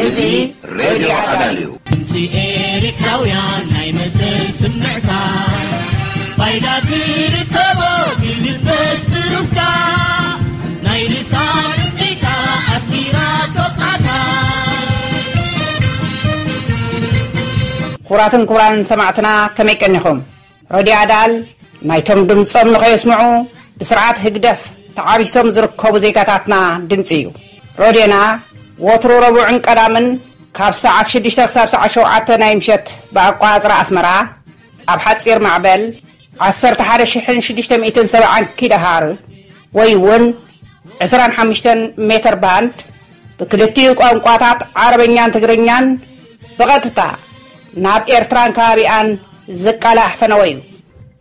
እዚ ሬድዮ ኣዳል እዩ። ድምፂ ኤርትራውያን ናይ መሰል ስምዕታ፣ ባይዳ ትርከቦ ትልበስ ብሩፍታ፣ ናይ ልሳን እምቢታ ኣስጊራ ቶቃታ። ክቡራትን ክቡራን ሰማዕትና፣ ከመይ ቀኒኹም? ሬድዮ ኣዳል ናይቶም ድምጾም ንኸየስምዑ ብስርዓት ህግደፍ ተዓቢሶም ዝርከቡ ዜጋታትና ድምጺ እዩ። ሬድዮና ወትሩ ረቡዕን ቀዳምን ካብ ሰዓት ሽዱሽተ ክሳብ ሰዓት ሸውዓተ ናይ ምሸት ብኣቋጽራ ኣስመራ ኣብ ሓጺር ማዕበል ዓሰርተ ሓደ ሽሕን ሽዱሽተ ሚእትን ሰብዓን ኪሎ ሃርዝ ወይ እውን ዕስራን ሓሙሽተን ሜትር ባንድ ብክልቲኡ ቋንቋታት ዓረበኛን ትግርኛን ብቐጥታ ናብ ኤርትራን ከባቢኣን ዝቃላሕ ፈነወ እዩ።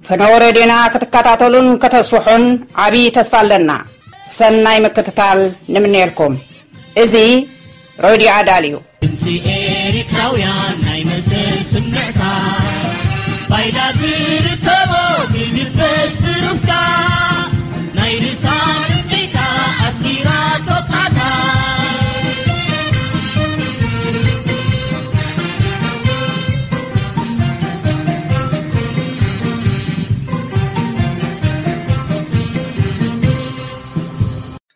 ፈነወ ሬድዮና ክትከታተሉን ከተስፍሑን ዓብዪ ተስፋ ኣለና። ሰናይ ምክትታል ንምነየልኩም። እዚ ሬድዮ ኣዳል እዩ። ድምፂ ኤርትራውያን ናይ መሰል ስምዕታ፣ ባይዳ ትርከቦ ትልበስ ብሩፍታ፣ ናይ ልሳን እምቢታ ኣስጊራ ቶቃታ።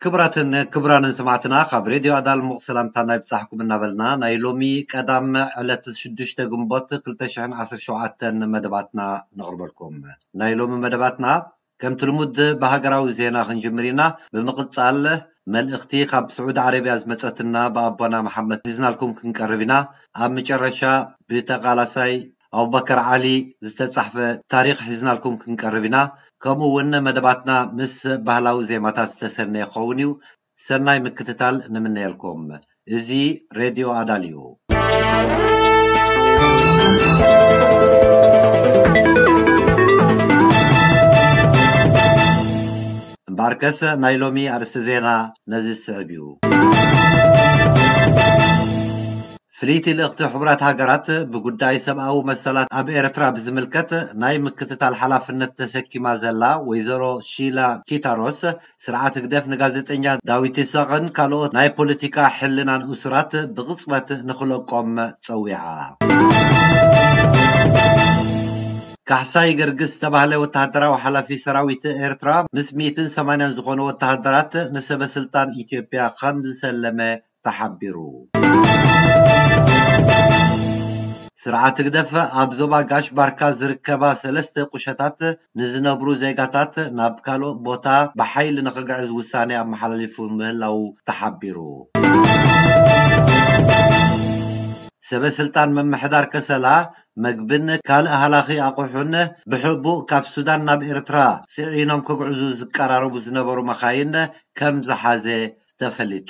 ክቡራትን ክቡራንን ሰማዕትና፣ ካብ ሬድዮ ኣዳል ሙቕ ሰላምታ ናይ ብጻሕኩም እናበልና፣ ናይ ሎሚ ቀዳም ዕለት ሽዱሽተ ግንቦት ክልተ ሽሕን ዓሰርተ ሸውዓተን መደባትና ነቕርበልኩም። ናይ ሎሚ መደባትና ከምቲ ልሙድ ብሃገራዊ ዜና ክንጅምር ኢና። ብምቕጻል መልእኽቲ ካብ ስዑዲ ዓረብያ ዝመጸትና ብኣቦና መሓመድ ሒዝናልኩም ክንቀርብ ኢና። ኣብ መጨረሻ ብተቓላሳይ ኣቡበከር ዓሊ ዝተጻሕፈ ታሪኽ ሒዝናልኩም ክንቀርብ ኢና። ከምኡ እውን መደባትና ምስ ባህላዊ ዜማታት ዝተሰነየ ክኸውን እዩ። ሰናይ ምክትታል ንምነየልኩም። እዚ ሬድዮ ኣዳል እዩ። እምበኣርከስ ናይ ሎሚ ኣርእስቲ ዜና ነዚ ዝስዕብ እዩ። ፍልይቲ ልእኽቲ ሕቡራት ሃገራት ብጉዳይ ሰብኣዊ መሰላት ኣብ ኤርትራ ብዝምልከት ናይ ምክትታል ሓላፍነት ተሰኪማ ዘላ ወይዘሮ ሺላ ኪታሮስ፣ ስርዓት ህግደፍ ንጋዜጠኛ ዳዊት ይስሐቕን ካልኦት ናይ ፖለቲካ ሕልናን እሱራት ብቕጽበት ንኽለቆም ጸዊዓ። ካሕሳይ ገርግስ ዝተባህለ ወተሃደራዊ ሓላፊ ሰራዊት ኤርትራ ምስ ሚእትን ሰማንያን ዝኾኑ ወተሃደራት ንሰበ ስልጣን ኢትዮጵያ ከም ዝሰለመ ተሓቢሩ። ስርዓት ህግደፍ ኣብ ዞባ ጋሽ ባርካ ዝርከባ ሰለስተ ቁሸታት ንዝነብሩ ዜጋታት ናብ ካልእ ቦታ ብሓይሊ ንኽግዕዝ ውሳኔ ኣመሓላሊፉ ምህላዉ ተሓቢሩ። ሰበ ስልጣን ምምሕዳር ከሰላ መግብን ካልእ ሃላኺ ኣቑሑን ብሕቡእ ካብ ሱዳን ናብ ኤርትራ ጽዒኖም ክግዕዙ ዝቀራረቡ ዝነበሩ መኻይን ከም ዝሓዘ ተፈሊጡ።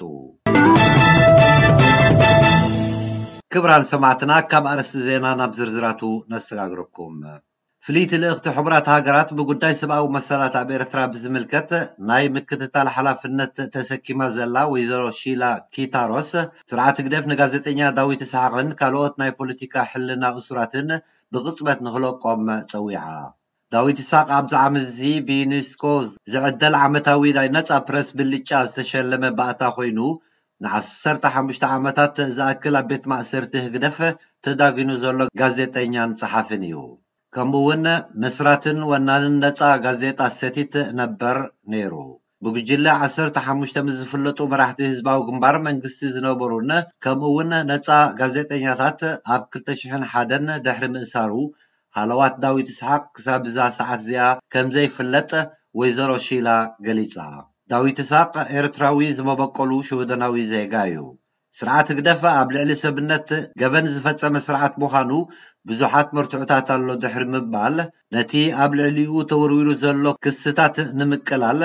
ክቡራን ሰማዕትና፣ ካብ ኣርእስቲ ዜና ናብ ዝርዝራቱ ነሰጋግረኩም። ፍልይቲ ልእኽቲ ሕቡራት ሃገራት ብጉዳይ ሰብኣዊ መሰላት ኣብ ኤርትራ ብዝምልከት ናይ ምክትታል ሓላፍነት ተሰኪማ ዘላ ወይዘሮ ሺላ ኪታሮስ፣ ስርዓት ህግደፍ ንጋዜጠኛ ዳዊት ይስሓቕን ካልኦት ናይ ፖለቲካ ሕልና እሱራትን ብቕጽበት ንኽለቆም ጸዊዓ። ዳዊት ይስሓቕ ኣብዚ ዓመት እዚ ብዩኔስኮ ዝዕደል ዓመታዊ ናይ ነጻ ፕረስ ብልጫ ዝተሸለመ ባእታ ኮይኑ፣ ንዓሰርተ ሓሙሽተ ዓመታት ዝኣክል ኣብ ቤት ማእሰርቲ ህግደፍ ተዳጒኑ ዘሎ ጋዜጠኛን ጸሓፍን እዩ። ከምኡ እውን መስራትን ወናንን ነጻ ጋዜጣ ሰቲት ነበር ነይሩ። ብጉጅለ ዓሰርተ ሓሙሽተ ምስ ዝፍለጡ መራሕቲ ህዝባዊ ግንባር መንግስቲ ዝነበሩን ከምኡ እውን ነጻ ጋዜጠኛታት ኣብ ክልተ ሽሕን ሓደን ድሕሪ ምእሳሩ፣ ሃለዋት ዳዊት ይስሓቕ ክሳብ እዛ ሰዓት እዚኣ ከም ዘይፍለጥ ወይዘሮ ሺላ ገሊጻ። ዳዊት ይስሓቕ ኤርትራዊ ዝመበቆሉ ሽወደናዊ ዜጋ እዩ። ስርዓት ህግደፍ ኣብ ልዕሊ ሰብነት ገበን ዝፈጸመ ስርዓት ምዃኑ ብዙሓት መርትዖታት ኣሎ ድሕሪ ምባል፣ ነቲ ኣብ ልዕሊኡ ተወርዊሩ ዘሎ ክስታት ንምቅላል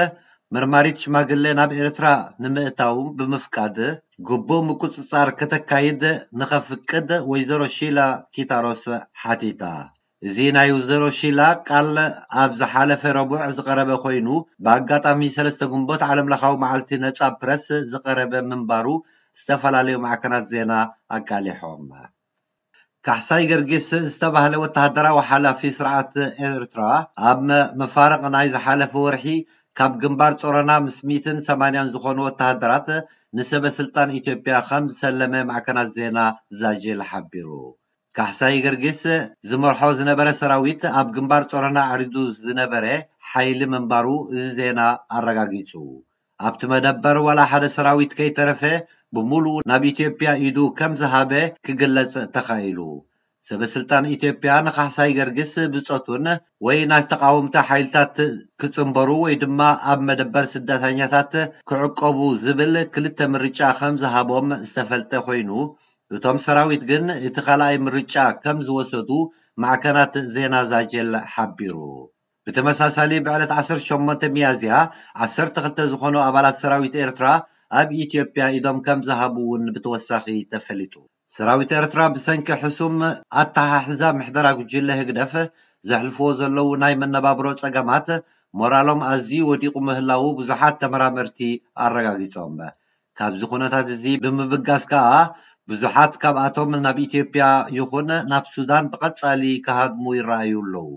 መርማሪት ሽማግለ ናብ ኤርትራ ንምእታው ብምፍቃድ ግቡእ ምቁጽጻር ከተካይድ ንኸፍቅድ ወይዘሮ ሺላ ኪታሮስ ሓቲታ። እዚ ናይ ወይዘሮ ሺላ ቃል ኣብ ዝሓለፈ ረቡዕ ዝቐረበ ኮይኑ፣ ብኣጋጣሚ ሰለስተ ግንቦት ዓለምለኻዊ መዓልቲ ነጻ ፕረስ ዝቐረበ ምንባሩ ዝተፈላለዩ ማዕከናት ዜና ኣቃሊሖም። ካሕሳይ ገርጊስ ዝተባህለ ወተሃደራዊ ሓላፊ ስርዓት ኤርትራ ኣብ መፋርቕ ናይ ዝሓለፈ ወርሒ ካብ ግንባር ጾሮና ምስ ሚእትን ሰማንያን ዝኾኑ ወተሃደራት ንሰበ ስልጣን ኢትዮጵያ ከም ዝሰለመ ማዕከናት ዜና ዛጀል ሓቢሩ። ካሕሳይ ገርጊስ ዝመርሖ ዝነበረ ሰራዊት ኣብ ግንባር ጾሮና ኣዕሪዱ ዝነበረ ሓይሊ ምንባሩ እዚ ዜና ኣረጋጊጹ። ኣብቲ መደበር ዋላ ሓደ ሰራዊት ከይተረፈ ብምሉኡ ናብ ኢትዮጵያ ኢዱ ከም ዝሃበ ክግለጽ ተኻኢሉ። ሰበ ስልጣን ኢትዮጵያ ንካሕሳይ ገርጊስ ብጾቱን ወይ ናይ ተቃወምቲ ሓይልታት ክጽንበሩ ወይ ድማ ኣብ መደበር ስደተኛታት ክዕቀቡ ዝብል ክልተ ምርጫ ከም ዝሃቦም ዝተፈልጠ ኮይኑ፣ እቶም ሰራዊት ግን እቲ ካልኣይ ምርጫ ከም ዝወሰዱ ማዕከናት ዜና ዛጀል ሓቢሩ። ብተመሳሳሊ ብዕለት ዓሰርተ ሸሞንተ ሚያዝያ ዓሰርተ ክልተ ዝኾኑ ኣባላት ሰራዊት ኤርትራ ኣብ ኢትዮጵያ ኢዶም ከም ዝሃቡ እውን ብተወሳኺ ተፈሊጡ። ሰራዊት ኤርትራ ብሰንኪ ሕሱም ኣተሓሕዛ ምሕደራ ጉጅለ ህግደፍ ዘሕልፍዎ ዘለዉ ናይ መነባብሮ ጸገማት ሞራሎም ኣዝዩ ወዲቑ ምህላዉ ብዙሓት ተመራመርቲ ኣረጋጊጾም። ካብዚ ኩነታት እዚ ብምብጋስ ከኣ ብዙሓት ካብኣቶም ናብ ኢትዮጵያ ይኹን ናብ ሱዳን ብቐጻሊ ክሃድሙ ይረኣዩ ኣለዉ።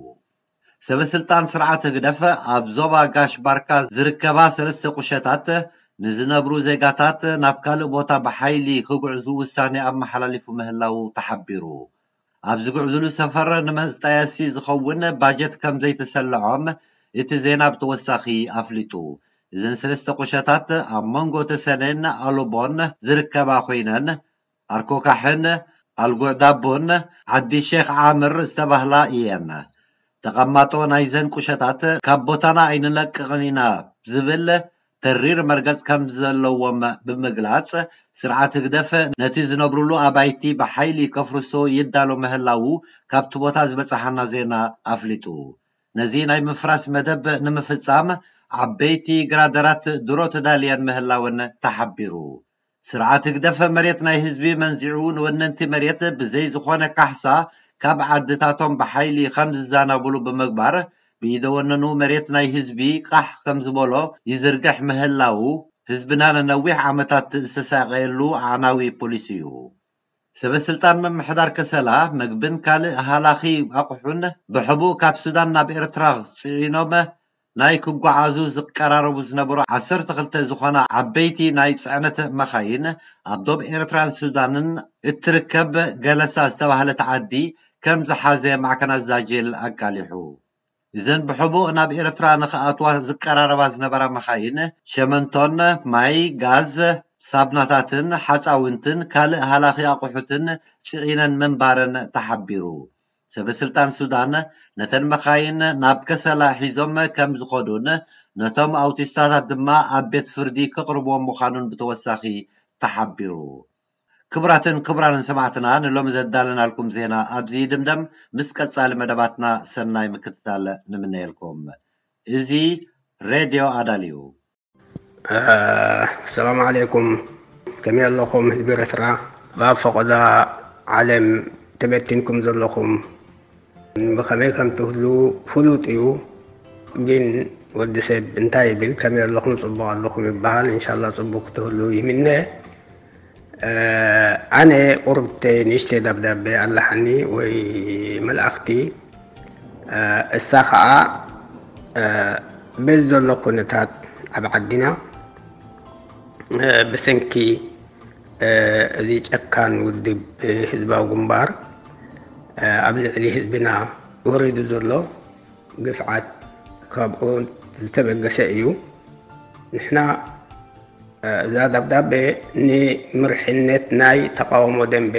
ሰበ ስልጣን ስርዓት ህግደፍ ኣብ ዞባ ጋሽ ባርካ ዝርከባ ሰለስተ ቁሸታት ንዝነብሩ ዜጋታት ናብ ካልእ ቦታ ብሓይሊ ክጉዕዙ ውሳኔ ኣመሓላሊፉ ምህላዉ ተሓቢሩ። ኣብ ዝጉዕዙሉ ሰፈር ንመጣየሲ ዝኸውን ባጀት ከም ዘይተሰልዖም እቲ ዜና ብተወሳኺ ኣፍሊጡ። እዘን ሰለስተ ቁሸታት ኣብ መንጎ ተሰነን ኣሎቦን ዝርከባ ኮይነን ኣርኮካሕን ኣልጉዕ ዳቦን ዓዲ ሼክ ዓምር ዝተባህላ እየን። ተቐማጦ ናይዘን ቁሸታት ካብ ቦታና ኣይንለቅቕን ኢና ዝብል ተሪር መርገጽ ከም ዘለዎም ብምግላጽ፣ ስርዓት ህግደፍ ነቲ ዝነብሩሉ ኣባይቲ ብሓይሊ ከፍርሶ ይዳሎ ምህላዉ ካብቲ ቦታ ዝበጽሓና ዜና ኣፍሊጡ። ነዚ ናይ ምፍራስ መደብ ንምፍጻም ዓበይቲ ግራደራት ድሮ ተዳልየን ምህላወን ተሓቢሩ። ስርዓት ህግደፍ መሬት ናይ ህዝቢ መንዚዑ ንወነንቲ መሬት ብዘይ ዝኾነ ካሕሳ ካብ ዓድታቶም ብሓይሊ ከም ዝዛናብሉ ብምግባር ብኢደወነኑ መሬት ናይ ህዝቢ ቃሕ ከም ዝበሎ ይዝርግሕ ምህላዉ ህዝብና ንነዊሕ ዓመታት ዝተሳቀየሉ ኣዕናዊ ፖሊሲ እዩ። ሰበ ስልጣን ምምሕዳር ከሰላ መግብን ካልእ ሃላኺ ኣቑሑን ብሕቡእ ካብ ሱዳን ናብ ኤርትራ ጽዒኖም ናይ ክጓዓዙ ዝቀራረቡ ዝነበሩ ዓሰርተ ክልተ ዝኾና ዓበይቲ ናይ ጽዕነት መኻይን ኣብ ዶብ ኤርትራን ሱዳንን እትርከብ ገለሳ ዝተባህለት ዓዲ ከም ዝሓዘ ማዕከናት ዛጀል ኣቃሊሑ። እዘን ብሕቡእ ናብ ኤርትራ ንኽኣትዋ ዝቀራረባ ዝነበራ መኻይን ሸመንቶን ማይ፣ ጋዝ፣ ሳብናታትን ሓጻውንትን ካልእ ሃላኺ ኣቑሑትን ጽዒነን ምንባረን ተሓቢሩ። ሰበ ስልጣን ሱዳን ነተን መኻይን ናብ ከሰላ ሒዞም ከም ዝኸዱን ነቶም ኣውቲስታታት ድማ ኣብ ቤት ፍርዲ ክቕርብዎም ምዃኑን ብተወሳኺ ተሓቢሩ። ክቡራትን ክቡራንን ሰማዕትና ንሎሚ ዘዳለናልኩም ዜና ኣብዚ ይድምደም። ምስ ቀጻሊ መደባትና ሰናይ ምክትታል ንምነየልኩም። እዚ ሬድዮ ኣዳል እዩ። ሰላም ዓለይኩም፣ ከመይ ኣለኹም ህዝቢ ኤርትራ? ኣብ ፈቐዶ ዓለም ተበቲንኩም ዘለኹም ብኸመይ ከም ትህሉ ፍሉጥ እዩ። ግን ወዲ ሰብ እንታይ ይብል? ከመይ ኣለኹም? ጽቡቕ ኣለኹም ይበሃል። እንሻላ ጽቡቕ ክትህሉ ይምነ። ኣነ ቁርብተይ ንእሽተይ ደብዳቤ ኣለሓኒ ወይ መልኣኽቲ። እሳ ኸዓ በዚ ዘሎ ኩነታት ኣብ ዓድና ብሰንኪ እዚ ጨካን ውድብ ህዝባዊ ግንባር ኣብ ልዕሊ ህዝብና ወሪዱ ዘሎ ግፍዓት ካብኡ ዝተበገሰ እዩ። ንሕና እዛ ደብዳቤ ንምርሕነት ናይ ተቃውሞ ደንበ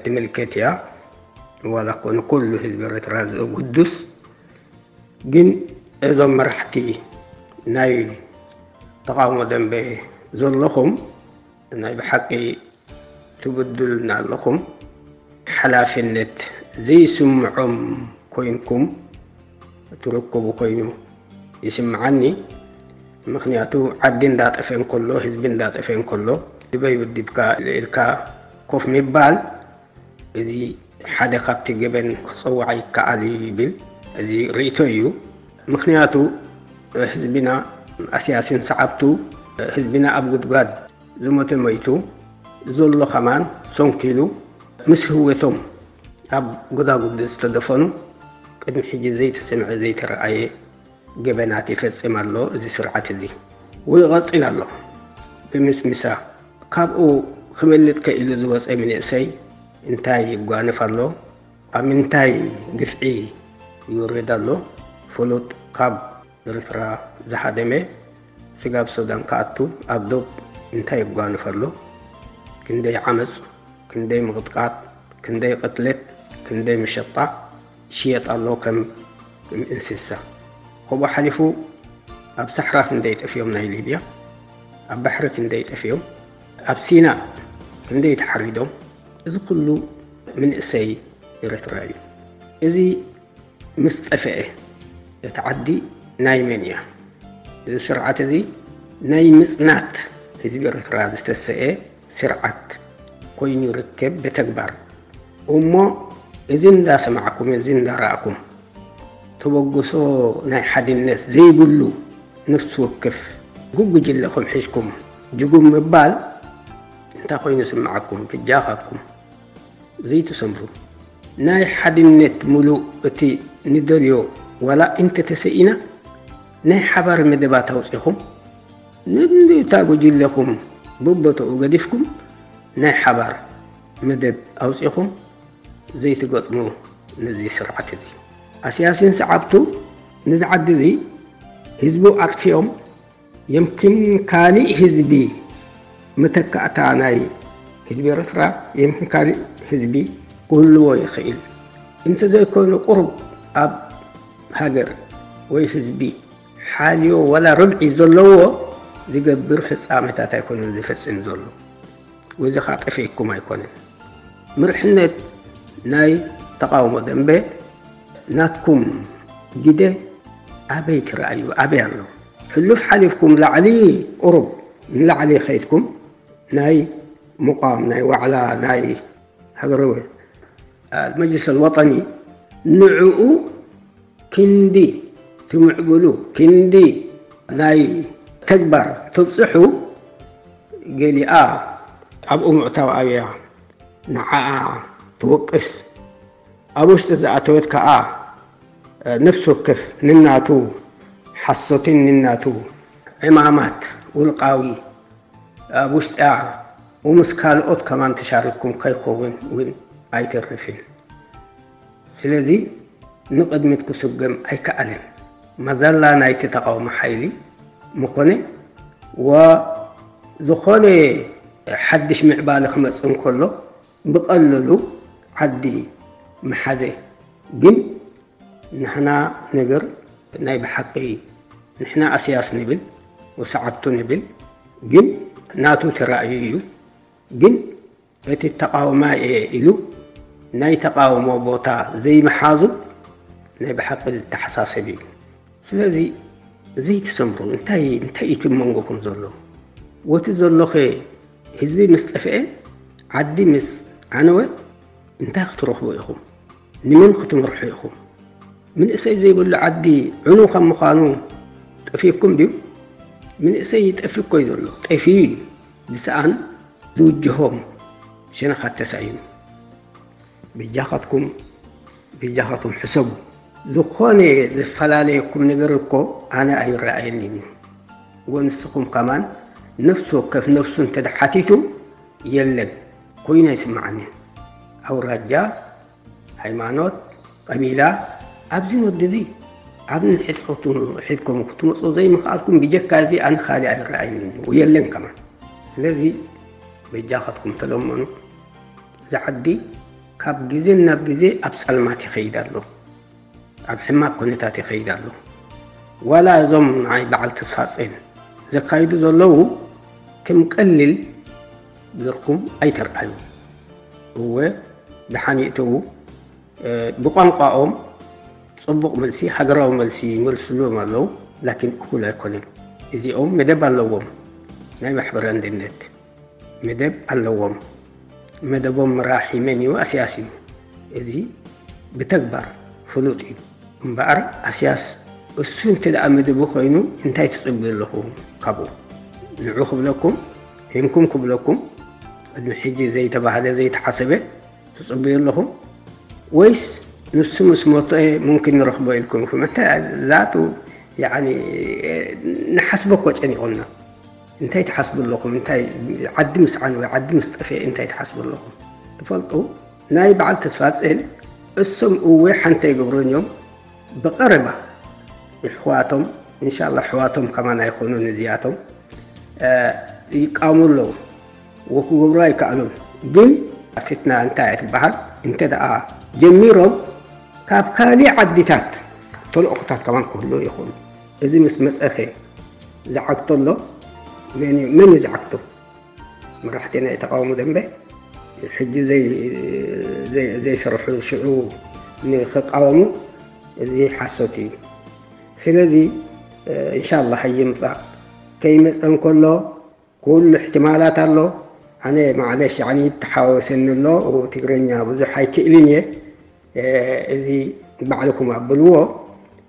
ትምልከት እያ። ዋላ እኮ ንኩሉ ህዝቢ ኤርትራ ዘጉድስ፣ ግን እዞም መራሕቲ ናይ ተቃውሞ ደንበ ዘለኹም ናይ ብሓቂ ትብድሉና ኣለኹም። ሓላፍነት ዘይስምዖም ኮይንኩም ትርከቡ ኮይኑ ይስምዓኒ። ምኽንያቱ ዓዲ እንዳጠፈ እንከሎ፣ ህዝቢ እንዳጠፈ እንከሎ፣ ዝበይ ውድብካ ኢልካ ኮፍ ምባል፣ እዚ ሓደ ካብቲ ገበን ክጸዋዕ ይከኣል እዩ ይብል። እዚ ርእይቶ እዩ። ምኽንያቱ ህዝብና ኣስያሲን ሰዓብቱ ህዝብና ኣብ ጉድጓድ ዝሞተ ሞይቱ፣ ዘሎ ከማን ሰንኪሉ ምስ ህወቶም ኣብ ጎዳጉዲ ዝተደፈኑ ቅድሚ ሕጂ ዘይተሰምዐ ዘይተረኣየ ገበናት ይፈጽም ኣሎ። እዚ ስርዓት እዚ ወይ ይቐጽል ኣሎ ብምስምሳ። ካብኡ ክመልጥ ከኢሉ ዝወፀ መንእሰይ እንታይ ይጓነፍ ኣሎ? ኣብ ምንታይ ግፍዒ ይውረድ ኣሎ? ፍሉጥ ካብ ኤርትራ ዝሃደመ ስጋብ ሱዳን ክኣቱ ኣብ ዶብ እንታይ ይጓነፍ ኣሎ? ክንደይ ዓመፅ፣ ክንደይ ምቕጥቃጥ፣ ክንደይ ቅትለት፣ ክንደይ ምሸጣ ይሽየጥ ኣሎ ከም፣ ከም እንስሳ። ከምኡ ሓሊፉ ኣብ ሳሕራ ክንደይ ጠፍዮም ናይ ሊብያ፣ ኣብ ባሕሪ ክንደይ ጠፍዮም፣ ኣብ ሲና ክንደይ ተሓሪዶም። እዚ ኩሉ መንእሰይ ኤርትራ እዩ። እዚ ምስ ጠፍአ እቲ ዓዲ ናይ መን እያ? እዚ ስርዓት እዚ ናይ ምጽናት ህዝቢ ኤርትራ ዝተሰአ ስርዓት ኮይኑ ይርከብ ብተግባር። እሞ እዚ እንዳሰማዕኩም፣ እዚ እንዳረኣኩም፣ ተበግሶ ናይ ሓድነት ዘይብሉ ነፍሲ ወከፍ ጉጉጅለኹም ሒዝኩም ጅጉም ምባል እንታይ ኮይኑ ይስምዓኩም? ብጃኻትኩም ዘይትሰምሩ። ናይ ሓድነት ምሉእ እቲ ንደልዮ ዋላ እንተተሰኢና ናይ ሓባር መደባት ኣውጺኹም ነታ ጉጅለኹም በቦታኡ ገዲፍኩም ናይ ሓባር መደብ ኣውጺኹም ዘይትገጥሙ ነዚ ስርዓት እዚ። ኣስያሲን ሰዓብቱ ነዚ ዓዲ እዚ ህዝቡ ኣጥፊኦም የምክን ካሊእ ህዝቢ መተካእታ ናይ ህዝቢ ኤርትራ የምክን ካሊእ ህዝቢ ክህልዎ ይኽእል። እንተዘይኮይኑ ቁሩብ ኣብ ሃገር ወይ ህዝቢ ሓልዮ ዋላ ርብዒ ዘለዎ ዝገብር ፍጻሜታት ኣይኮነን ዝፈጽም ዘሎ። ወዚ ኸኣ ጠፊእኩም ኣይኮነን። ምርሕነት ናይ ተቓውሞ ደንበ ናትኩም ግደ ኣበይ ትረኣዩ? ኣበይ ኣሎ? ሕሉፍ ሓሊፍኩም ላዕሊ ቁሩብ ንላዕሊ ኸይድኩም ናይ ምቋም፣ ናይ ዋዕላ፣ ናይ ሃገራዊ፣ አ፣ መጅልስ ኣልወጠኒ ንዕኡ ክንዲ ትምዕብሉ፣ ክንዲ ናይ ተግባር ተብጽሑ፣ ገሊኣ ኣብኡ ምእታው ኣብያ ንዓኣ ትወቅስ። ኣብ ውሽጢ ዝኣተወት ከኣ፣ እ፣ ነፍሲ ወከፍ ንናቱ ሓሶትን ንናቱ ዕማማት ውልቃዊ ኣብ ውሽጢኣ ወምስ ካልኦት ከማን ተሻሪክኩም ከይከውን እውን ኣይተርፍን። ስለዚ ንቕድሚት ክስገም ኣይከኣልን። መዘላ ናይቲ ተቓውሞ ሓይሊ ምኾነ፣ ወዝኾነ ሓድሽ ምዕባለ ክመጽእ እንከሎ ብቐለሉ ዓዲ ምሓዘ። ግን ንሕና ነገር ናይ ብሓቂ ንሕና ኣስያስ ንብል ወሰዓብቱ ንብል፣ ግን ናቱ ተራእዩ እዩ። ግን እቲ ተቓውማይ እየ ኢሉ ናይ ተቓውሞ ቦታ ዘይምሓዙ ናይ ብሓቂ ዝተሓሳሰብ እዩ። ስለዚ ዘይትሰምሩ፣ እንታይ፣ እንታይ እዩ እቲ መንጎኹም ዘሎ? ወቲ ዘሎኸ ህዝቢ ምስ ጠፍአ፣ ዓዲ ምስ ዓነወ እንታይ ክትረኽቡ ኢኹም? ንመን ክትመርሑ ኢኹም? መንእሰይ ዘይብሉ ዓዲ ዕኑ ከም ምዃኑ ጠፊእኩም ድዩ? መንእሰይ ይጠፊ እኮ እዩ ዘሎ። ጠፊኡ እዩ። ብሰኣን ዝውጅሆም ሸነኻት ተሳኢኑ። በጃኻትኩም፣ በጃኻትኩም ሕሰቡ። ዝኾነ ዝፈላለየኩም ነገር እኮ ኣነ ኣይረኣየንን እዩ። ወንስኹም ከማን ነፍሲ ወከፍ ነፍሱ እንተ ሓቲቱ የለን ኮይኑ ኣይስምዓንን። ኣውራጃ፣ ሃይማኖት፣ ቀቢላ፣ ኣብዚ ወዲ እዚ ኣብ ንሕድ ሕድኩም ክትመፁ ዘይምኽኣልኩም ብጀካ እዚ ኣነ ካሊእ ኣይረኣይን እዩ የለን ከማን። ስለዚ በጃኻትኩም ተለመኑ። እዚ ዓዲ ካብ ግዜ ናብ ግዜ ኣብ ጸልማት ይኸይድ ኣሎ፣ ኣብ ሕማቅ ኩነታት ይኸይድ ኣሎ። ዋላ እዞም ንዓይ በዓል ተስፋጼን ዘካይዱ ዘለዉ ከም ቀሊል ጌርኩም ኣይተርኣዩ። እወ ደሓን ይእተዉ። እ፣ ብቋንቋኦም ጽቡቕ መልሲ፣ ሃገራዊ መልሲ ይመልስሎም ኣለዉ፣ ላኪን እኹል ኣይኮነን። እዚኦም መደብ ኣለዎም፣ ናይ ማሕበር ኣንድነት መደብ ኣለዎም። መደቦም መራሒ መን እዩ? ኣስያስ እዩ። እዚ ብተግባር ፍሉጥ እዩ። እምበኣር ኣስያስ እሱ እንተ ደኣ መደቡ ኮይኑ እንታይ ትጽብዩ ኣለኹ ካብኡ? ንዑ ክብለኩም፣ ሂንኩም ክብለኩም፣ ቅድሚ ሕጂ ዘይተባህለ ዘይተሓሰበ ትጽብዩ ኣለኹም? ወይስ ንሱ ምስ ሞተ ሙምኪን ንረኽቦ ኢልኩም ኢኹም? እንተ ዛቱ ያኒ ንሓስቦ እኮ ጨኒቑና። እንታይ ትሓስቡ ኣለኹም? እንታይ ዓዲ ምስ ዓነወ፣ ዓዲ ምስ ጠፍኤ እንታይ ትሓስቡ ኣለኹም? ትፈልጡ፣ ናይ በዓል ተስፋጽዮን እሶም እወ ሓንቲ ኣይገብሩን እዮም። ብቐረባ ይሕዋቶም፣ እንሻላ ኣሕዋቶም ከማን ኣይኾኑን እዚኣቶም፣ እ፣ ይቃወሙ ኣለዉ። ወክገብሩ ኣይከኣሉን። ግን ፊትና እንታይ እያ ትበሃል? እንተ ደኣ ጀሚሮም ካብ ካሊእ ዓዲታት ተልእኾታት ከማን ክህልዉ ይኽእሉ። እዚ ምስ መጸኸ ዝዓግቶ ኣሎ። መን እዩ፣ መን እዩ ዝዓግቶ? መራሕቲ ናይ ተቃውሞ ደንበ ሕጂ ዘይ-፣ ዘይ-፣ ዘይሰርሑ ሽዑ ንኽቃወሙ፣ እዚ ሓሶት እዩ። ስለዚ፣ እ፣ እንሻላህ ኣይምጻእ። ከይመጸ እንከሎ ኩሉ እሕትማላት ኣሎ። ኣነ ማዕለሽ፣ ያኒ፣ ይተሓዋወሰኒ ኣሎ። ትግርኛ ብዙሕ ኣይክእልን እየ። እ፣ እዚ ባዕልኩም ኣብልዎ።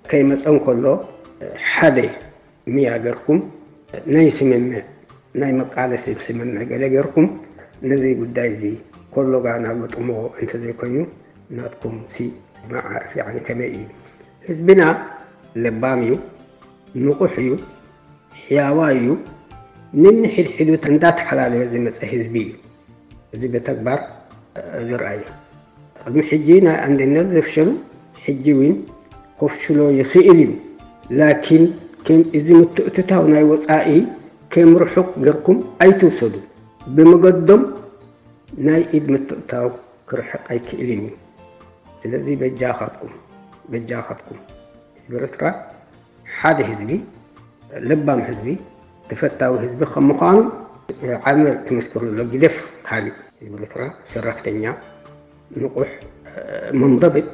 ከይመጸ እንከሎ ሓደ ምያ ገርኩም ናይ ስምምዕ፣ ናይ መቃለሲ ስምምዕ ገለ ገርኩም ነዚ ጉዳይ እዚ ኮሎጋ ናገጥሞ እንተዘይኮይኑ ናትኩም ሲ መዓርፍ፣ ያኒ፣ ከመይ እዩ? ህዝብና ለባም እዩ፣ ንቑሕ እዩ፣ ሕያዋይ እዩ። ንንሕድሕዱ እንዳተሓላለበ ዝመጸ ህዝቢ እዩ። እዚ ብተግባር፣ እ፣ ዝረኣየ። ቅድሚ ሕጂ ናይ ኣንድነት ዘፍሸሉ ሕጂ እውን ከፍሽሎ ይኽእል እዩ። ላኪን ከም እዚ ምትእትታው ናይ ወጻኢ ከም ርሑቕ ገርኩም ኣይትውሰዱ። ብመገዶም ናይ ኢድ ምትእትታው ክርሕቕ ኣይክእልን እዩ። ስለዚ በጃኻትኩም፣ በጃኻትኩም ህዝቢ ኤርትራ ሓደ ህዝቢ፣ ለባም ህዝቢ፣ ተፈታዊ ህዝቢ ከም ምዃኑ ዓሚ ትምስክሩ ኣሎ። ግደፍ ካልእ ህዝቢ ኤርትራ ሰራሕተኛ፣ ንቑሕ፣ መንደብት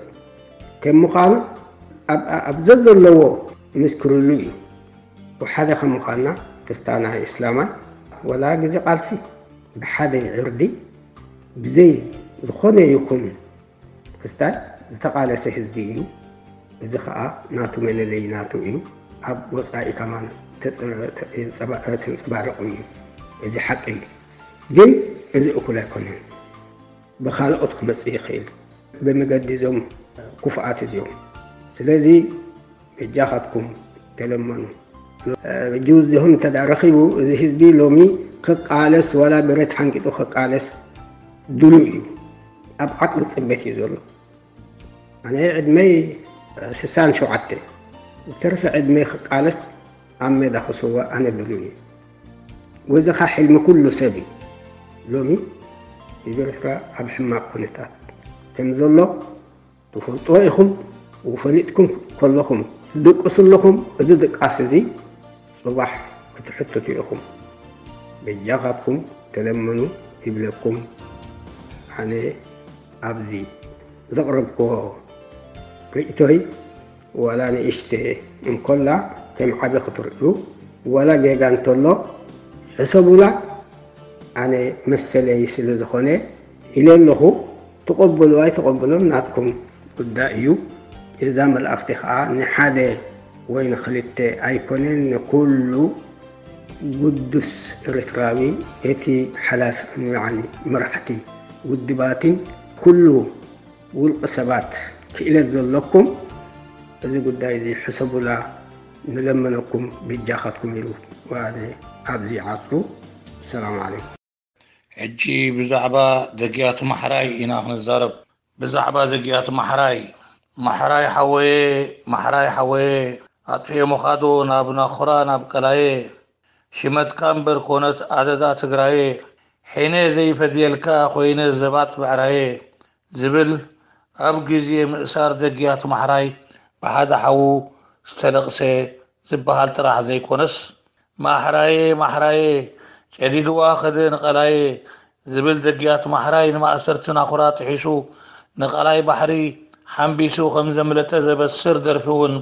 ከም ምዃኑ ኣብ፣ ኣብ ዘዘለዎ ምስክርሉ እዩ። ወሓደ ከም ምዃንና ክስታና እስላማይ ወላ ግዜ ቃልሲ ብሓደ ዕርዲ ብዘይ ዝኾነ ይኹን ክስታይ ዝተቓለሰ ህዝቢ እዩ። እዚ ኸኣ ናቱ መለለዪ ናቱ እዩ። ኣብ ወጻኢ ከማን ተጸ-፣ ተ-፣ የንጸባ-፣ ተንጸባርቑ እዩ። እዚ ሓቂ እዩ። ግን እዚ እኩል ኣይኮነን። ብኻልኦት ክመጽእ ይኽእል። ብመገዲ እዞም ክፉኣት እዚኦም። ስለዚ በጃኻትኩም ተለመኑ። እ፣ ጁዝ ዲኹም እንተ ደኣ ረኺቡ፣ እዚ ህዝቢ ሎሚ ክቃለስ፣ ዋላ ብረት ሓንቂጡ ክቃለስ ድሉው እዩ። ኣብ ዓቕሊ ጽበት እዩ ዘሎ። ኣነ ዕድመይ ስሳን ሸውዓተ፣ ዝተረፈ ዕድመይ ክቃለስ፣ ኣብ ሜዳ ክስዋእ ኣነ ድሉው እየ። ወዚ ኸኣ ሕልሚ ኩሉ ሰብ እዩ። ሎሚ ህዝቢ ኤርትራ ኣብ ሕማቕ ኩነታት ከም ዘሎ ትፈልጥዎ ኢኹም። ወፈሊጥኩም ከለኹም ትድቅሱ ኣለኹም። እዚ ድቃስ እዚ ጽባሕ ክትሕትቱ ኢኹም። በጃኻትኩም ተለመኑ ይብለኩም። ኣነ ኣብዚ ዘቕረብክዎ ርእይቶይ ዋላ ንእሽተ እንኮላ ከም ዓቢ ክትርእዩ፣ ዋላ ጌጋ እንተሎ ሕሰቡላ። ኣነ መሰለይ ስለ ዝኾነ ኢለ ኣለኹ። ትቐበሉ ኣይትቐበሉን ናትኩም ጉዳይ እዩ። እዛ መልእኽቲ ኸኣ ንሓደ ወይ ንኽልተ ኣይኮነን፣ ንኩሉ ግዱስ ኤርትራዊ፣ እቲ ሓላፊ፣ ያኒ መራሕቲ ውድባትን ኩሉ ውልቂ ሰባት ክእለት ዘለኩም፣ እዚ ጉዳይ እዚ ሕሰቡላ፣ ንለመነኩም ብጃኻትኩም ኢሉ። ኣነ ኣብዚ ይዓጹ። ሰላም ዓለይኩም። ሕጂ ብዛዕባ ዘግያት ማሕራይ ኢና ክንዛረብ። ብዛዕባ ዘግያት ማሕራይ። ማሕራይ ሓወየ፣ ማሕራይ ሓወየ፣ ኣጥፊኤ ምኻዶ ናብ ናኹራ ናብ ቀላየ። ሽመትካ እምበር ኮነት ኣደዳ ትግራየ። ሒነ ዘይፈድየልካ ኮይነ ዘባት ብዕራየ። ዝብል ኣብ ግዜ ምእሳር ዘግያት ማሕራይ ብሓደ ሓዉ ዝተለቕሰ ዝበሃል ጥራሕ ዘይኮነስ፣ ማሕራየ፣ ማሕራየ፣ ጨዲድዋ ከደ ንቐላየ ዝብል ዘግያት ማሕራይ ንማእሰርቲ ናኹራ ጥሒሱ ንቐላይ ባሕሪ ሓምቢሱ ከም ዘምለጠ ዘበስር ደርፊ እውን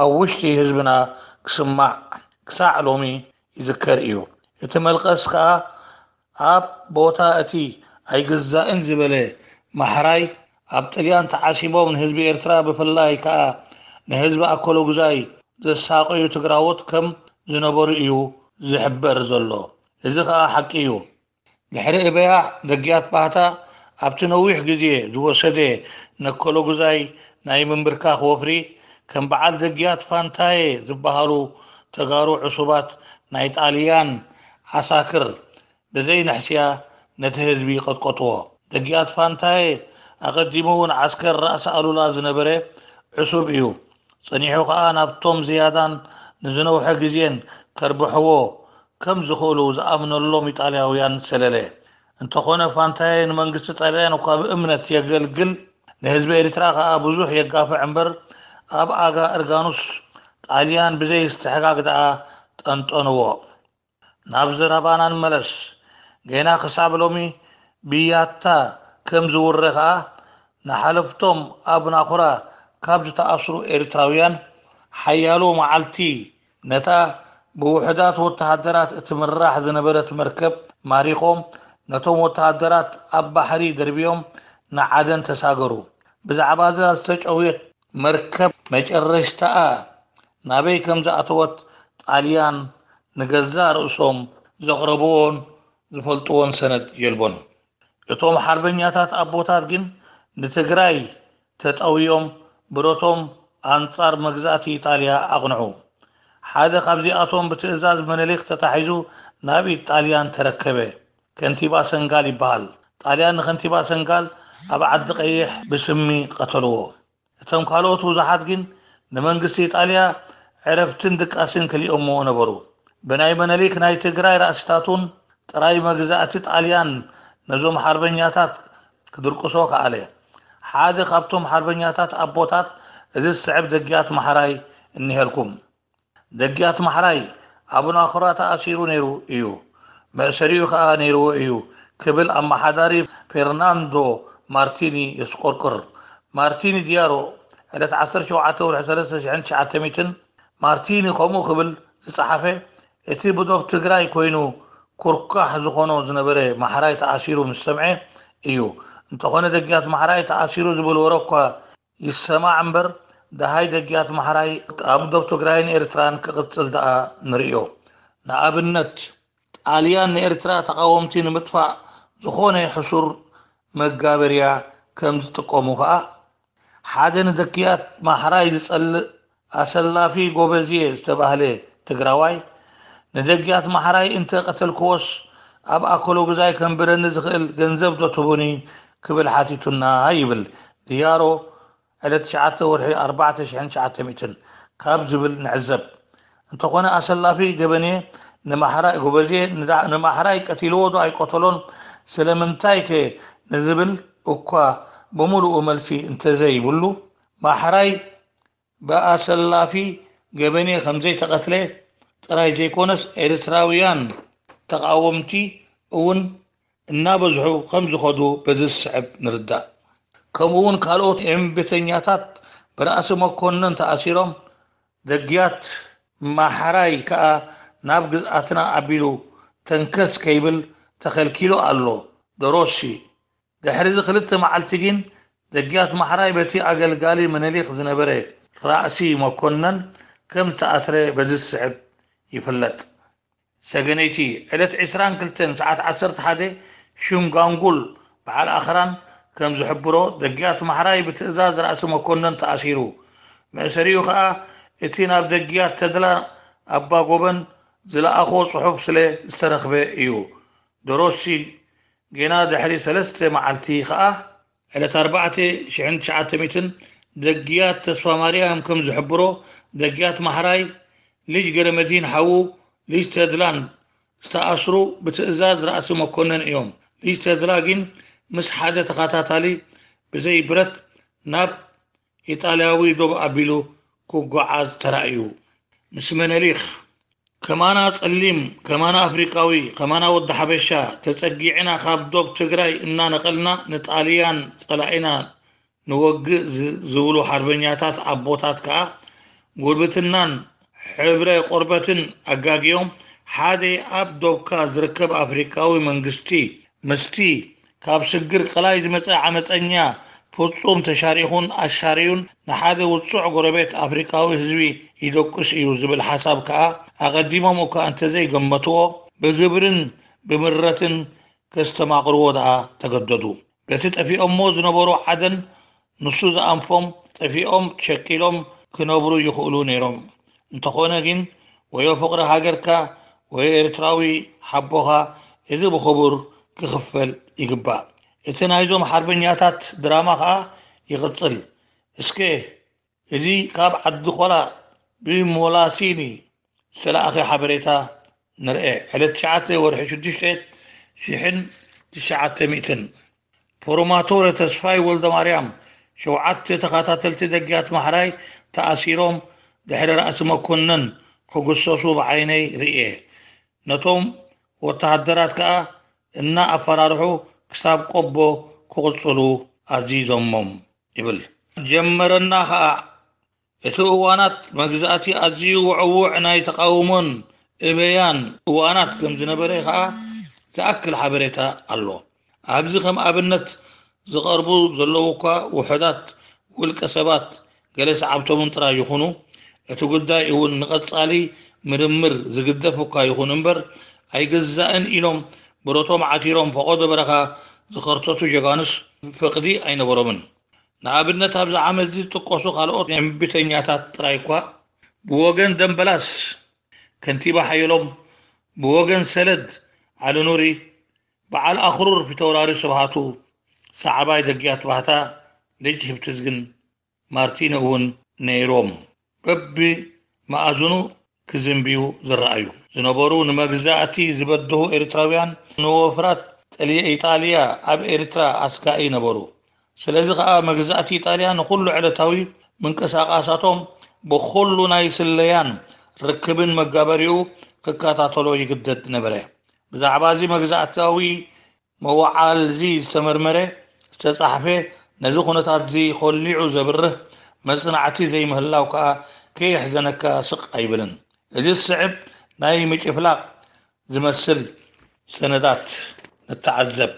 ኣብ ውሽጢ ህዝብና ክስማዕ ክሳዕ ሎሚ ይዝከር እዩ። እቲ መልቀስ ከኣ ኣብ ቦታ እቲ ኣይግዛእን ዝበለ ማሕራይ ኣብ ጥልያን ተዓሲቦም ንህዝቢ ኤርትራ ብፍላይ ከኣ ንህዝቢ ኣኮሎጉዛይ ዘሳቐዩ ትግራዎት ከም ዝነበሩ እዩ ዝሕበር ዘሎ። እዚ ከኣ ሓቂ እዩ። ድሕሪ እበያ ደግያት ባህታ ኣብቲ ነዊሕ ግዜ ዝወሰደ ነኮሎጉዛይ ናይ ምንብርካኽ ወፍሪ ከም በዓል ደግያት ፋንታዬ ዝበሃሉ ተጋሩ ዕሱባት ናይ ጣልያን ዓሳክር ብዘይ ንሕስያ ነቲ ህዝቢ ቀጥቀጥዎ። ደግያት ፋንታዬ ኣቐዲሙ እውን ዓስከር ራእሲ ኣሉላ ዝነበረ ዕሱብ እዩ። ጸኒሑ ከኣ ናብቶም ዝያዳን ንዝነውሐ ግዜን ከርብሕዎ ከም ዝኽእሉ ዝኣምነሎም ኢጣልያውያን ሰለለ። እንተኾነ ፋንታዬ ንመንግስቲ ጣልያን እኳ ብእምነት የገልግል፣ ንህዝቢ ኤርትራ ከኣ ብዙሕ የጋፍዕ እምበር ኣብ ኣጋ እርጋኑስ ጣልያን ብዘይ ስትሕጋግ ደኣ ጠንጠንዎ። ናብ ዘረባና ንመለስ። ጌና ክሳብ ሎሚ ብያታ ከም ዝውረ ከኣ ንሓለፍቶም ኣብ ናኹራ ካብ ዝተኣስሩ ኤርትራውያን ሓያሎ መዓልቲ ነታ ብውሑዳት ወተሃደራት እትምራሕ ዝነበረት መርከብ ማሪኾም ነቶም ወተሃደራት ኣብ ባሕሪ ደርብዮም ንዓደን ተሳገሩ። ብዛዕባ እዛ ዝተጨውየት መርከብ መጨረሽታኣ ናበይ ከም ዝኣተወት ጣልያን ንገዛእ ርእሶም ዘቕረብዎን ዝፈልጥዎን ሰነድ የልቦን። እቶም ሓርበኛታት ኣቦታት ግን ንትግራይ ተጠውዮም ብረቶም ኣንጻር መግዛእቲ ኢጣልያ ኣቕንዑ። ሓደ ካብዚኣቶም ብትእዛዝ መነሊክ ተታሒዙ ናብ ኢድ ጣልያን ተረከበ። ከንቲባ ሰንጋል ይበሃል። ጣልያን ንከንቲባ ሰንጋል ኣብ ዓዲ ቀይሕ ብስሚ ቀተልዎ። እቶም ካልኦት ብዙሓት ግን ንመንግስቲ ኢጣልያ ዕረፍትን ድቃስን ከሊኦሞ ነበሩ። ብናይ መነሊክ ናይ ትግራይ ራእሲታቱን ጥራይ መግዛእቲ ጣልያን ነዞም ሓርበኛታት ክድርቅሶ ከኣለ። ሓደ ካብቶም ሓርበኛታት ኣቦታት እዚ ዝስዕብ ደግያት ማሕራይ እኒሀልኩም። ደግያት ማሕራይ ኣብ ናኹራ ተኣሲሩ ነይሩ እዩ። መእሰሪኡ ከኣ ነይርዎ እዩ ክብል ኣመሓዳሪ ፌርናንዶ ማርቲኒ የስቆርቅር። ማርቲኒ ዲያሮ ዕለት ዓሰርተ ሸውዓተ ወርሒ ሰለስተ ሽሕን ትሽዓተ ሚእትን ማርቲኒ ከምኡ ክብል ዝጸሓፈ እቲ ብዶብ ትግራይ ኮይኑ ኩርካሕ ዝኾኖ ዝነበረ ማሕራይ ተኣሲሩ ምስ ሰምዐ እዩ። እንተኾነ ደግያት ማሕራይ ተኣሲሩ ዝብል ወረ እኳ ይሰማዕ እምበር ደሃይ ደግያት ማሕራይ ኣብ ዶብ ትግራይን ኤርትራን ክቕጽል ደኣ ንርእዮ። ንኣብነት ጣልያን ንኤርትራ ተቓወምቲ ንምጥፋእ ዝኾነ ሕሱር መጋበርያ ከም ዝጥቀሙ ከኣ ሓደ ንደክያት ማሕራይ ዝጸልእ ኣሰላፊ ጎበዝየ ዝተባህለ ትግራዋይ ንደግያት ማሕራይ እንተ ቀተልክዎስ ኣብ ኣከሎ ግዛይ ከንብረኒ ዝኽእል ገንዘብ ዶ ትቡኒ ክብል ሓቲቱና ይብል ድያሮ ዕለት ትሽዓተ ወርሒ ኣርባዕተ ሽሕን ትሽዓተ ሚእትን ካብ ዝብል ንዕዘብ። እንተኾነ ኣሰላፊ ገበኔ ንማሕራይ ጎበዜ ንዳ- ንማሕራይ ቀቲልዎ ዶ ኣይቀተሎን ስለምንታይ ከ ንዝብል እኳ ብምሉኡ መልሲ እንተዘይብሉ ማሕራይ ብኣሰላፊ ገበኔ ከምዘይተቐትለ ጥራይ ዘይኮነስ ኤርትራውያን ተቓወምቲ እውን እናበዝሑ ከም ዝኸዱ በዚ ዝስዕብ ንርዳእ። ከምኡ እውን ካልኦት እምቢተኛታት ብራእሲ መኮነን ተኣሲሮም ደግያት ማሕራይ ከኣ ናብ ግዝኣትና ኣቢሉ ተንከስ ከይብል ተኸልኪሉ ኣሎ። ደሮሲ ድሕሪ እዚ ክልተ መዓልቲ ግን ደግያት ማሕራይ በቲ ኣገልጋሊ ምኒልክ ዝነበረ ራእሲ መኮነን ከም ዝተኣስረ በዚ ዝስዕብ ይፍለጥ። ሰገነይቲ ዕለት ዕስራን ክልተን ሰዓት ዓሰርተ ሓደ ሽም ጋንጉል በዓል ኣኽራን ከም ዝሕብሮ ደግያት ማሕራይ ብትእዛዝ ራእሲ መኮነን ተኣሲሩ። መእሰሪኡ ከኣ እቲ ናብ ደግያት ተድላ ኣባ ጎበን ዝለኣኾ ጽሑፍ ስለ ዝተረኽበ እዩ። ደሮሲ ጌና ድሕሪ ሰለስተ መዓልቲ ከኣ ዕለት ኣርባዕተ ሽሕን ትሽዓተ ሚእትን ደግያት ተስፋ ማርያም ከም ዝሕብሮ ደግያት ማሕራይ ልጅ ገረመዲን ሓዉ ልጅ ተድላን ዝተኣስሩ ብትእዛዝ ራእሲ መኮነን እዮም። ልጅ ተድላ ግን ምስ ሓደ ተኸታታሊ ብዘይ ብረት ናብ ኢጣልያዊ ዶብ ኣቢሉ ክጓዓዝ ተራእዩ። ምስ መነሊክ ከማና ጸሊም፣ ከማና ኣፍሪቃዊ፣ ከማና ወዲ ሓበሻ ተጸጊዕና ካብ ዶብ ትግራይ እናነቐልና ንጣልያን ጸላኢና ንወግእ ዝ- ዝብሉ ሓርበኛታት ኣቦታት ከኣ ጉርብትናን ሕብረ ቆርበትን ኣጋግዮም ሓደ ኣብ ዶብካ ዝርከብ ኣፍሪቃዊ መንግስቲ ምስቲ ካብ ስግር ቀላይ ዝመጸ ዓመጸኛ ፍጹም ተሻሪኹን ኣሻርዩን ንሓደ ውጹዕ ጎረቤት ኣፍሪቃዊ ህዝቢ ይደቁስ እዩ ዝብል ሓሳብ ከኣ ኣቐዲሞም እኳ እንተዘይገመትዎ ብግብርን ብምረትን ከስተማቕርዎ ደኣ ተገደዱ። በቲ ጠፊኦሞ ዝነበሩ ዓደን ንሱ ዝኣንፎም ጠፊኦም ሸቂሎም ክነብሩ ይኽእሉ ነይሮም። እንተኾነ ግን ወዮ ፍቕሪ ሃገርካ ወዮ ኤርትራዊ ሓቦኻ፣ እዚ ብኽቡር ክኽፈል ይግባእ። እቲ ናይዞም ሓርበኛታት ድራማ ኸኣ ይቕጽል። እስከ እዚ ካብ ዓዲ ኾላ ብሞላሲኒ ዝተላእኸ ሓበሬታ ንርኤ። ዕለት ትሽዓተ ወርሒ ሽዱሽተ ሽሕን ትሽዓተ ሚእትን። ፕሮማቶረ ተስፋይ ወልደማርያም፣ ሸውዓተ ተኸታተልቲ ደግያት ማሕራይ ተኣሲሮም ድሕሪ ራእሲ መኮነን ክግሰሱ ብዓይነይ ርእየ። ነቶም ወተሃደራት ከኣ እናኣፈራርሑ ክሳብ ቆቦ ክቕጽሉ ኣዚዞሞም ይብል። ጀመረና ከኣ እቲ እዋናት መግዛእቲ ኣዝዩ ውዕውዕ ናይ ተቓውሞን እበያን እዋናት ከም ዝነበረ ከኣ ዝኣክል ሓበሬታ ኣሎ። ኣብዚ ከም ኣብነት ዝቐርቡ ዘለዉ እኳ ውሑዳት ውልቀ ሰባት ገለ ሰዓብቶምን ጥራይ ይኹኑ፣ እቲ ጉዳይ እውን ንቐጻሊ ምርምር ዝግደፍ እኳ ይኹን እምበር፣ ኣይግዛእን ኢሎም ብረቶም ዓቲሮም ፈቖዶ በረኻ ዝኸርተቱ ጀጋኑስ ፍቕዲ ኣይነበሮምን። ንኣብነት ኣብዚ ዓመት እዚ ዝጥቀሱ ካልኦት እምቢተኛታት ጥራይ እኳ ብወገን ደምበላስ ከንቲባ ሓየሎም፣ ብወገን ሰለድ ዓሊ ኑሪ፣ በዓል ኣኽሩር ፊተውራሪ ስብሃቱ፣ ሰዓባይ ደግያት ባህታ ልጅ ህብትዝግን ማርቲን እውን ነይሮም። በቢ መኣዝኑ ክዝንብዩ ዝረኣዩ ዝነበሩ ንመግዛእቲ ዝበደሁ ኤርትራውያን ንወፍራት ጠሊ-፣ ኢጣልያ ኣብ ኤርትራ ኣስጋኢ ነበሩ። ስለዚ ከኣ መግዛእቲ ኢጣልያ ንኹሉ ዕለታዊ ምንቅስቓሳቶም ብኹሉ ናይ ስለያን ርክብን መጋበሪኡ ክከታተሎ ይግደድ ነበረ። ብዛዕባ እዚ መግዛእታዊ መወዓልዚ ዝተመርመረ፣ ዝተጻሕፈ፣ ነዚ ኩነታትዚ ኮሊዑ ዘብርህ መጽናዕቲ ዘይምህላው ከኣ ከየሕዘነካ ስቕ ኣይብልን። እዚ ዝስዕብ ናይ ምጭፍላቕ ዝመስል ሰነዳት ንተዓዘብ።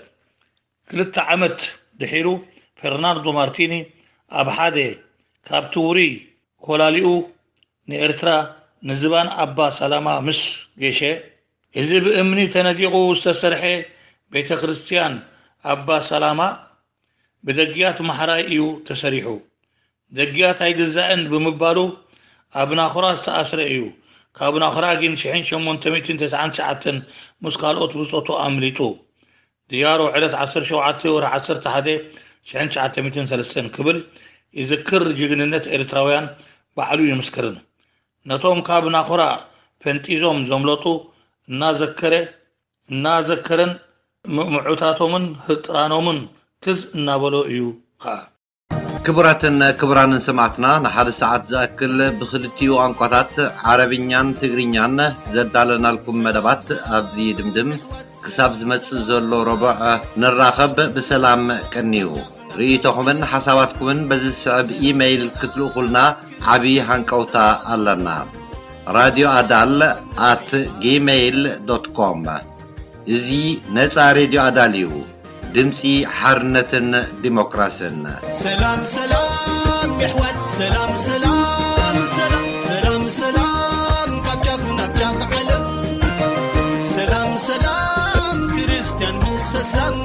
ክልተ ዓመት ድሒሩ፣ ፈርናንዶ ማርቲኒ ኣብ ሓደ ካብቲ ውሩይ ኮላሊኡ ንኤርትራ ንዝባን ኣባ ሰላማ ምስ ገሸ፣ እዚ ብእምኒ ተነዲቑ ዝተሰርሐ ቤተ ክርስቲያን ኣባ ሰላማ ብደጊያት ማሕራይ እዩ ተሰሪሑ። ደጊያት ኣይግዛእን ብምባሉ ኣብ ናኹራ ዝተኣስረ እዩ። ካብ ናኹራ ግን ሽሕን ሸሞንተ ሚእትን ተስዓን ትሽዓተን ምስ ካልኦት ብጾቱ ኣምሊጡ። ድያሮ ዕለት ዓሰርተ ሸውዓተ ወርሒ ዓሰርተ ሓደ ሽሕን ትሽዓተ ሚእትን ሰለስተን ክብል ይዝክር። ጅግንነት ኤርትራውያን ባዕሉ ይምስክርን። ነቶም ካብ ናኹራ ፈንጢዞም ዘምለጡ እናዘከረ፣ እናዘከረን ም-፣ ምዑታቶምን ህጥራኖምን ትዝ እናበሎ እዩ ኸኣ። ክቡራትን ክቡራንን ሰማዕትና፣ ንሓደ ሰዓት ዝኣክል ብኽልቲኡ ቋንቋታት ዓረብኛን ትግርኛን ዘዳለናልኩም መደባት ኣብዚ ይድምድም። ክሳብ ዝመጽእ ዘሎ ረቡዕ ንራኸብ። ብሰላም ቀንዩ። ርእይቶኹምን ሓሳባትኩምን በዚ ዝስዕብ ኢመይል ክትልእኹልና ዓቢ ሃንቀውታ ኣለና። ራድዮ ኣዳል ኣት ጂሜይል ዶት ኮም። እዚ ነጻ ሬድዮ ኣዳል እዩ። ድምጺ ሓርነትን ዲሞክራስን። ሰላም ሰላም የሕዋት፣ ሰላም ሰላም ሰላም ሰላም ሰላም፣ ካብ ጫፍ ናብ ጫፍ ዓለም። ሰላም ሰላም ክርስቲያን ምስ እስላም፣